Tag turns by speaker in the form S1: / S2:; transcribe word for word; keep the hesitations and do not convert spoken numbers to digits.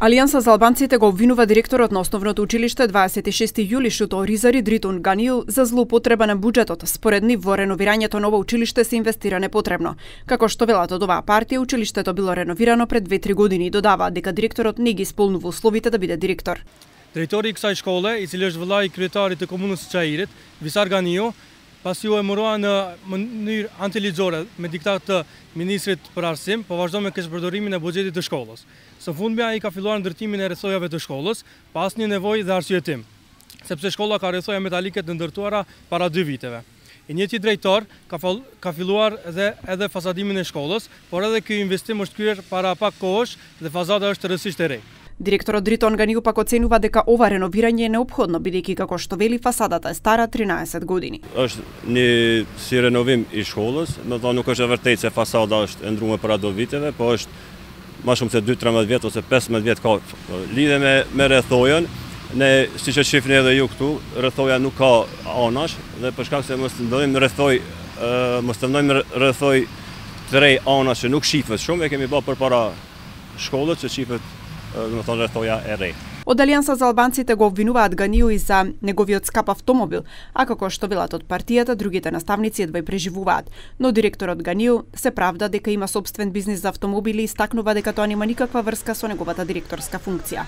S1: Алијанса за албанците го обвинува директорот на основното училиште дваесет и шести јули Шуто Оризари Дритун Ганију за злоупотреба на буџетот. Според нив во реновирањето на ова училиште се инвестира непотребно. Како што велат од оваа партија, училиштето било реновирано пред две-три години и додаваат дека директорот не ги исполнува условите да биде директор.
S2: Drejtori i kësaj shkolle, i cili është vëllai i kryetarit të komunës së Çajirit, Visar Ganiu, pasi u emërua në mënyrë antiligjore me diktat të ministrit për arsim, po vazhdo me keshpërdorimin e buxhetit të shkollës. Së fundmi ai ka filluar ndërtimin e rrethojave të shkollës, pas një nevojë dhe arsyetim, sepse shkolla ka rrethoja metalike të ndërtuara para dy viteve. I njëjti drejtor ka, ka filluar edhe, edhe fasadimin e shkollës, por edhe ky investim është kryer para pak kohësh dhe fazada është rësisht e re.
S1: Директорот Дритун Ганију пак оценува дека ова реновирање е неопходно, бидејќи како што вели фасадата е стара тринаесет години.
S3: Është një si renovim i shkollës, do të thonë nuk është e vërtetë se fasada është e ndruar para do viteve, po është më shumë se dy tretëmbëdhjetë vjet ose pesëmbëdhjetë vjet ka lidhje me me rrethojën. Ne siç e shihni edhe ju këtu, rrethoja nuk ka anash dhe për shkak se mos ndodhim rrethoj, mos të ndojmë rrethoj tre anash që nuk shifet shumë, e kemi bërë përpara shkollës që shifet do të thonë rrethoja e re.
S1: Од Алијанса за албанците го обвинуваат Ганију и за неговиот скап автомобил, а како што велат од партијата, другите наставници едва и преживуваат. Но директорот Ганију се правда дека има сопствен бизнис за автомобили и истакнува дека тоа нема никаква врска со неговата директорска функција.